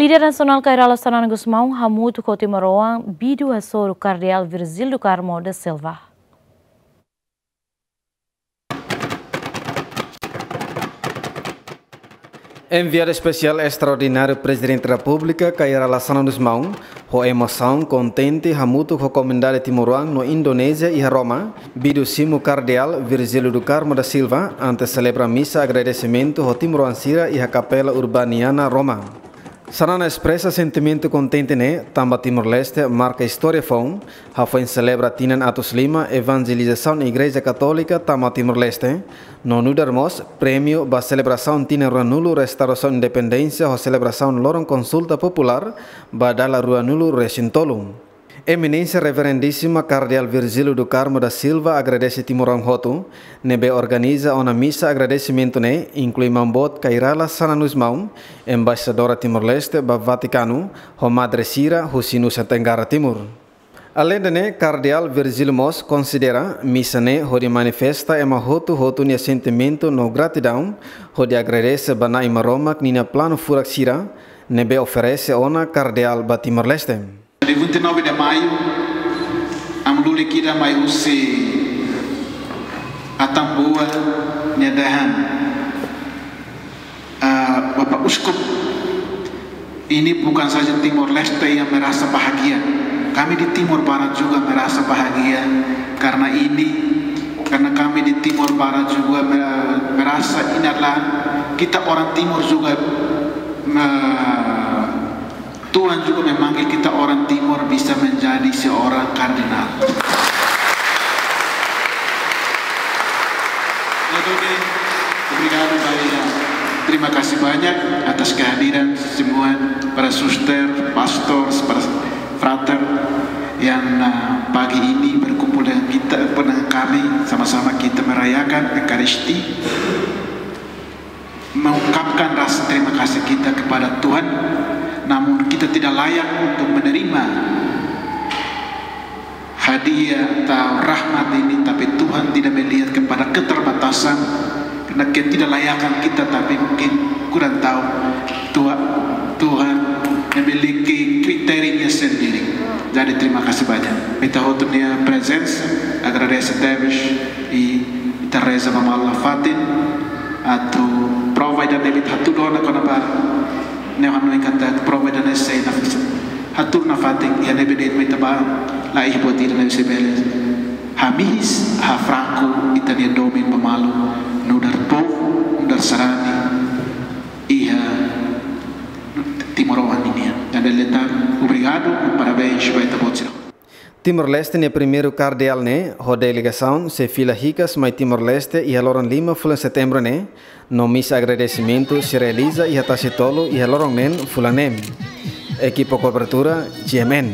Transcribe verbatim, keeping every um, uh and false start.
Líder Nasionál Kay Rala Xanana Gusmão hamutuk ho timoroan Bidu hasoru Kardeál Virgílio do Carmo da Silva. Enviadu Espesiál Estraordináriu Prezidente Repúblika Kay Rala Xanana Gusmão, ho emosaun kontente hamutuk ho komunidade timoroan no Indonézia iha Roma, Bidu simu Kardeál Virgílio do Carmo da Silva, ante selebra misa agradesimentu ho timoroan sira iha Kapela Urbaniana Roma. Xanana espresa sentimentu kontente ne'e, tanba Timor-Leste marka istória foun, hafoin selebra tinan atus lima evanjelizasaun Igreja Katólika tama Timor-Leste, no nu'udar mós prémiu ba selebrasaun tinan ruanulu restaurasaun independénsia ho selebrasaun loron konsulta populár ba dala ruanulu resin tolu. Eminénsia Reverendísima Kardeál Virgílio do Carmo da Silva agradese timoroan hotu ne'ebé organiza ona misa agradesimentu ne'e, inklui Maun Boot Kay Rala Xanana Gusmão, Embaixadora Timor-Leste ba Vatikanu, ho madre sira husi Nusa Tenggara Timur. Aleinde ne'e, Kardeál Virgílio mós konsidera misa ne'e hodi manifesta ema hotu-hotu nia sentimentu no gratidaun, hodi agradese ba Na'i Maromak ninia planu furak sira, ne'ebé oferese ona Kardeál ba Timor-Leste. Dia vinte e nove de maio, ami-nia líder mai husi Atambua nia dehan, ah, Bapak Uskup, ini bukan saja Timor-Leste yang merasa bahagia. Kami di Timor Barat juga merasa bahagia karena ini, karena kami di Timor Barat juga me-, merasa ini adalah kita orang Timur juga, me-, Tuhan juga memanggil kita orang Timur bisa menjadi seorang kardinal. Obrigado, Bahia. Terima kasih banyak atas kehadiran semua para suster, pastor, para frater yang, uh, pagi ini berkumpul dengan kita, dengan kami, sama-sama kita merayakan Ekaristi. Mengungkapkan rasa terima kasih kita kepada Tuhan, namun kita tidak layak untuk menerima hadiah atau rahmat ini, tapi Tuhan tidak melihat kepada keterbatasan, karena ketidaklayakan kita, tapi mungkin kurang tahu Tuhan, Tuhan memiliki kriterianya sendiri. Jadi terima kasih banyak. Ita hotu nia prezensa, agradese tebes, i ita reza ba malu nafatin, atu prova ida ne'ebé ita hatudu ona kona-ba ne'e, hanoin katak prova ida ne'e sei nafatin, hatudu nafatin, iha ne'ebé de'it mak ita bá, la iha buat ida ne'ebé sei bele hamihis, hafraku ita-nia domin ba malu, nu'udar povu, nu'udar sarani iha timoroan ninian. Dada letan, obrigadu, parabéns ba ita-boot sira. Timor-Leste nia primeiru kardeál ne'e, ho delegasaun, sei fila hikas mai Timor-Leste iha loron lima fulan Setembru ne'e, no misa agradesimentu sei realiza iha Tasitolu iha loron neen fulan neen. Ekipa kobertura, G M N.